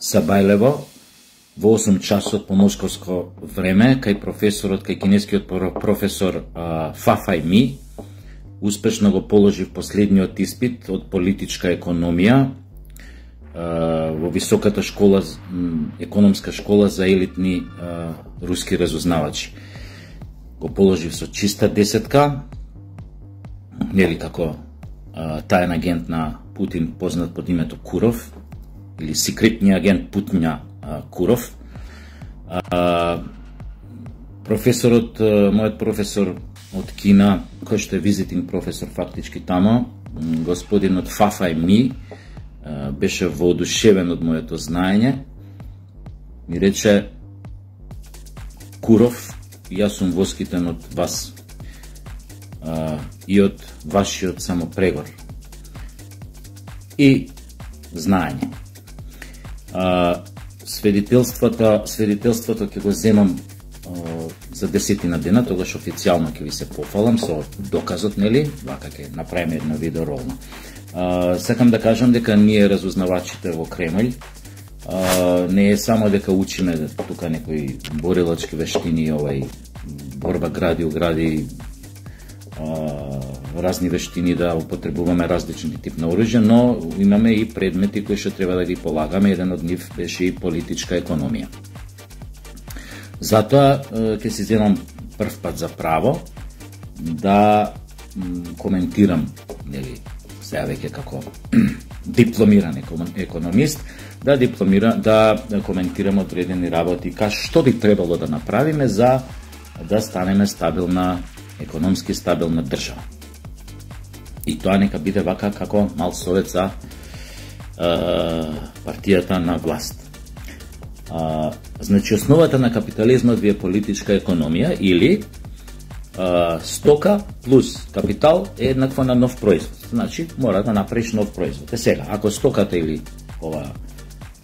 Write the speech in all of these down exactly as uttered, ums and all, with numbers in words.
Сабајлево во осум часот по московско време, кај професорот, кај кинескиот професор Фафај Ми, успешно го положив последниот испит од политичка економија во високата школа, економска школа за елитни руски разузнавачи. Го положив со чиста десетка, нели како таен агент на Путин, познат под името Куров, или секретниот агент Путиња Куров. Професорот, мојот професор од Кина, кој што е визитинг професор фактички тамо, господинот Фафај Ми, беше воодушевен од моето знаење. Ми рече: Куров, јас сум воскитен од вас и од вашиот самопрегор и знаење. Свидетелството, свидетелството ќе го земам за десетина дена, тогаш официјално ќе ви се пофалам со доказот, нели? Вака ќе направиме едно видео ролно. Сакам да кажам дека ние разузнавачите во Кремљ не е само дека учиме тука некои борилачки вештини, овај борба гради огради, разни вештини да употребуваме различни тип на оружје, но имаме и предмети кои што треба да ги полагаме. Еден од нив беше и политичка економија. Затоа ќе си земам прв пат за право да коментирам, нели, сега веќе како дипломиран економист, да дипломира, да коментирам одредени работи, ка што би требало да направиме за да станеме стабилна, економски стабилна држава. И тоа нека биде вака како мал совет за партијата на власт. А, значи, основата на капитализмот ви е политичка економија, или а, стока плюс капитал е еднакво на нов производ. Значи, мора да направиш нов производ. Е сега, ако стоката или ова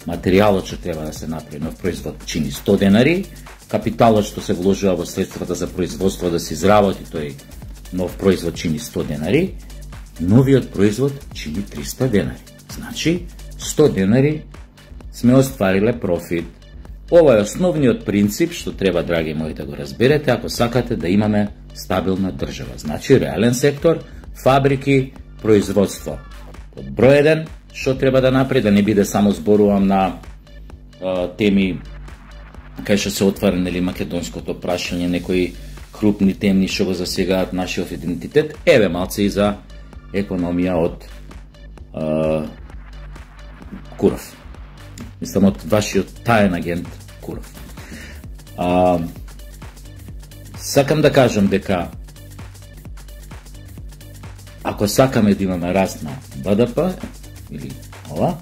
материјалот што треба да се направи нов производ чини сто денари, капиталот што се вложува во средствата за производство да се изработи тој нов производ чини сто денари, новиот производ чини триста денари. Значи, сто денари сме оствариле профит. Ова е основниот принцип што треба, драги мои, да го разберете ако сакате да имаме стабилна држава. Значи, реален сектор, фабрики, производство. Од број еден, што треба да направи, да не биде само зборувам на а, теми кај што се отвара, нели, македонското прашање, некои крупни темни што го засегаат нашиот идентитет, еве малце и за економија од а, Куров. Мислам, од вашиот таен агент Куров. А, сакам да кажам дека ако сакаме да имаме раст на Б Д П, или ова,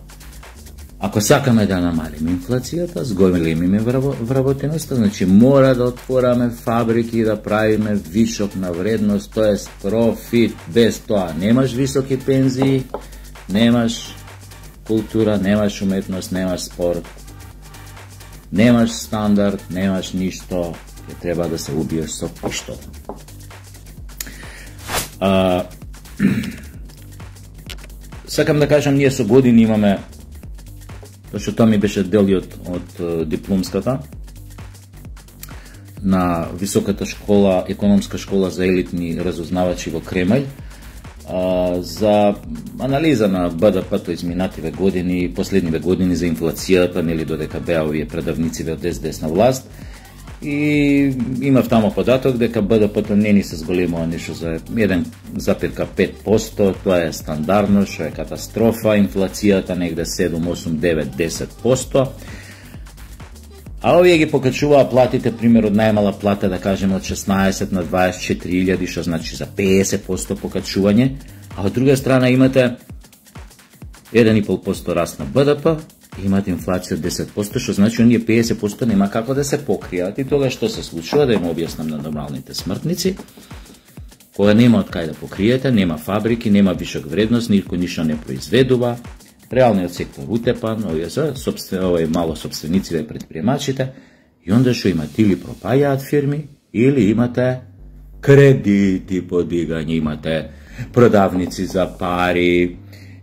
ако сакаме да намалиме инфлацијата, зголемиме вработеноста, значи мора да отвораме фабрики и да правиме вишок на вредност, тоест профит. Без тоа немаш високи пензии, немаш култура, немаш уметност, немаш спорт, немаш стандард, немаш ништо, ќе треба да се убиеш со пиштол. А, сакам да кажам, ние со години имаме, што тоа ми беше дел од, од дипломската на високата школа, економска школа за елитни разузнавачи во Кремљ, за анализа на Б Д П-то изминативе години, последниве години за инфлацијата, нели, додека беа овие предавници од Ес Де Ес на власт. И имав тамо податок дека Б Д П-то не ни се зголемува ништо за еден запирка пет посто, тоа е стандардно, што е катастрофа, инфлацијата негде седум, осум, девет, десет посто. А овие ги покачуваа платите, пример од најмала плата, да кажеме од шеснаесет на дваесет и четири илјади, што значи за педесет посто покачување, а од друга страна имате еден и пол посто раст на Б Д П, имате инфлација од десет посто, што значи оние педесет посто нема како да се покријат. И тога што се случува, да им објаснам на нормалните смртници, кога нема од кај да покриете, нема фабрики, нема вишок вредност, никој ништо не произведува, реалниот сектор утепан, овие се овие мало собствениците, предприемачите, и онда што имате или пропаѓаат фирми, или имате кредити подигање, имате продавници за пари,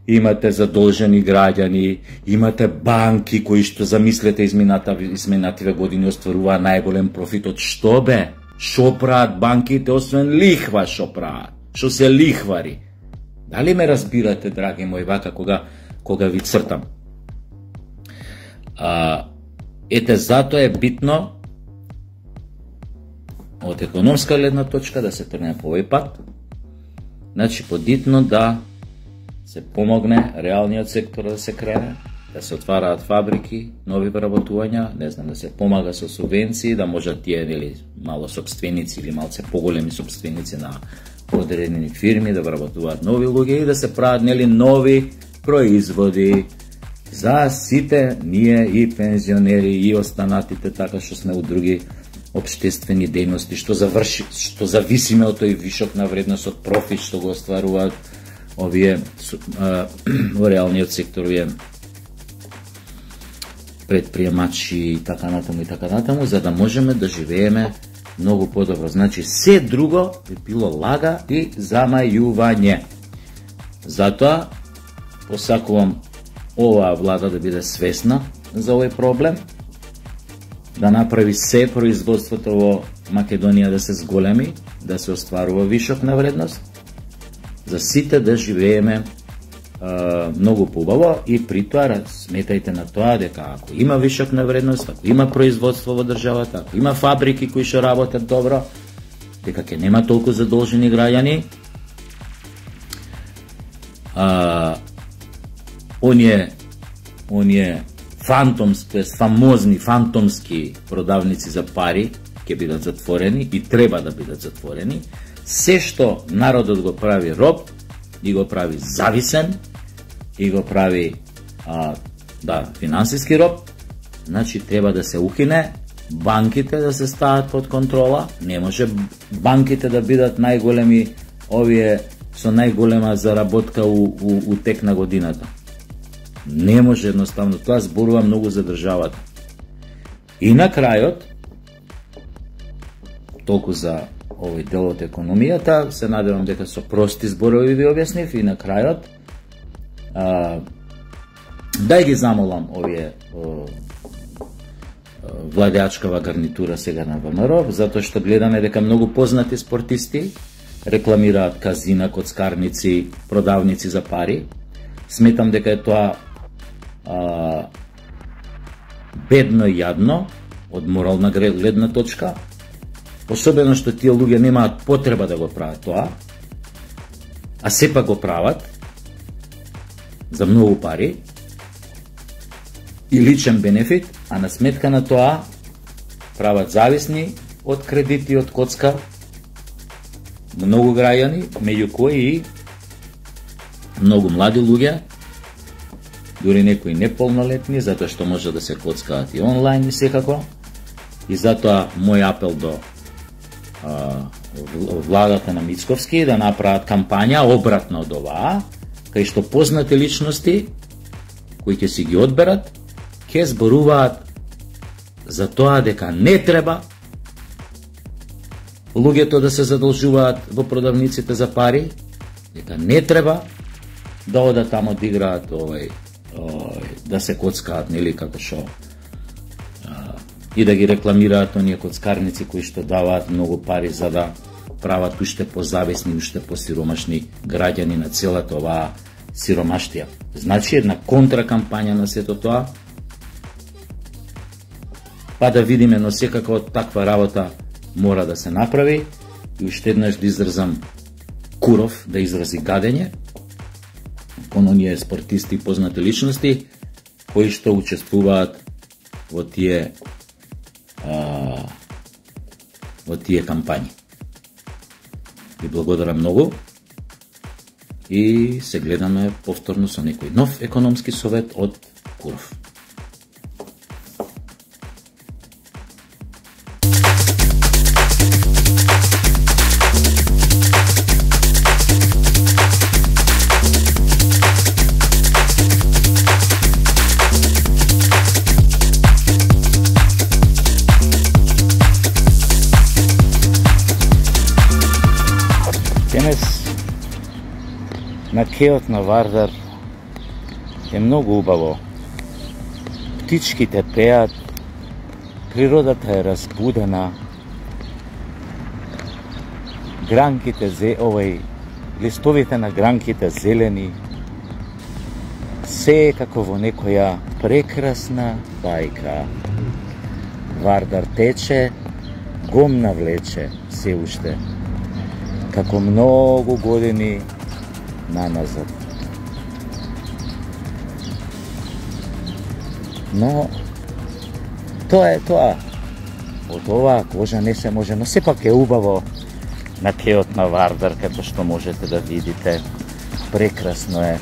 имате задолжени граѓани, имате банки кои што замислете измината изминативе години остваруваа најголем профит. Од што бе? Шо прават банките освен лихва што прават? Што се лихвари? Дали ме разбирате, драги мои, вака кога кога ви цртам? А, ете, затоа е битно од економска гледна точка да се тргне по овој пат. Значи, подитно да се помогне реалниот сектор да се крене, да се отвараат фабрики, нови вработувања, не знам, да се помага со субвенции, да можат тие или мало собственици или малце поголеми собственици на одредени фирми да вработуваат нови луѓе и да се прават нели нови производи за сите ние и пензионери и останатите, така што сме у други општествени дејности, што заврши, што зависиме од тој вишок на вредност, од профит што го остваруваат овие во реалниот сектор, овие предприемачи и така натаму и така натаму, за да можеме да живееме многу подобро. Значи, се друго би било лага и замајување. Затоа, посакувам оваа влада да биде свесна за овој проблем, да направи се производството во Македонија да се зголеми, да се остварува вишок на вредност, за сите да живееме а, многу побаво и при тоа сметајте на тоа дека ако има вишок на вредност, ако има производство во државата, ако има фабрики кои што работат добро, дека ќе нема толку задолжени граѓани, а, оние оние фантомски, фамозни фантомски продавници за пари ќе бидат затворени и треба да бидат затворени. Се што народот го прави роб, и го прави зависен, и го прави а, да, финансиски роб, значи треба да се укине, банките да се стават под контрола. Не може банките да бидат најголеми овие со најголема заработка у, у, у тек на годината. Не може едноставно, тоа зборува многу за државата. И на крајот, толку за овој дел од економијата, се надевам дека со прости зборови ви објаснив, и на крајот а, да ги замолам овие о, владеачкава гарнитура сега на ВМРО, затоа што гледаме дека многу познати спортисти рекламираат казина, коцкарници, продавници за пари. Сметам дека е тоа а, бедно и јадно од морална гледна точка, особено што тие луѓе немаат потреба да го прават тоа, а сепак го прават за многу пари и личен бенефит, а на сметка на тоа прават зависни од кредити, од коцка многу граѓани, меѓу кои и многу млади луѓе, дури некои неполнолетни, затоа што може да се коцкаат и онлайн и секако. И затоа мој апел до а, владата на Мицковски да направат кампања обратно од оваа, кај што познати личности кои ќе си ги одберат, ќе зборуваат за тоа дека не треба луѓето да се задолжуваат во продавниците за пари, дека не треба да одат тамо да играат овој, овој да се коцкаат, нели, како што и да ги рекламираат оние коцкарници кои што даваат многу пари за да прават уште позависни, уште посиромашни граѓани на целата оваа сиромаштија. Значи една контракампања на сето тоа, па да видиме, но секако таква работа мора да се направи. И уште еднаш да изразам куров, да изрази гадење кон оние спортисти и познати личности кои што учествуваат во тие а, во тие кампањи. Ви благодарам многу и се гледаме повторно со некој нов економски совет од Куров. На кеот на Вардар е многу убаво. Птичките пеат, природата е разбудена, гранките зе, овај, листовите на гранките зелени, се е како во некоја прекрасна бајка. Вардар тече, гом навлече се уште, како многу години наназад. Но, тоа е тоа. Од оваа кожа не се може, но сепак е убаво на кеот на Вардар, като што можете да видите. Прекрасно е.